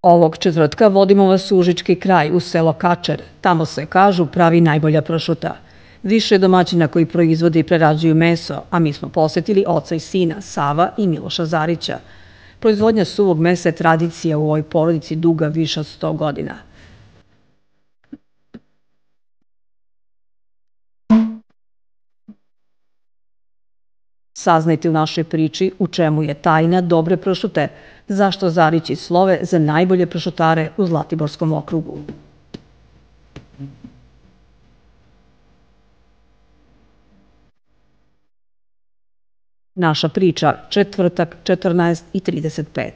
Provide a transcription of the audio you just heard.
Ovog četvrtka vodimo vas u Užički kraj, u selo Kačer. Tamo se, kažu, pravi najbolja pršuta. Više je domaćina koji proizvode i prerađuju meso, a mi smo posetili oca i sina, Sava i Miloša Zarića. Proizvodnja suvog mesa je tradicija u ovoj porodici duga više od 100 godina. Saznajte u našoj priči u čemu je tajna dobre pršute, zašto Zarići slove za najbolje pršutare u Zlatiborskom okrugu. Naša priča, četvrtak, 14:35.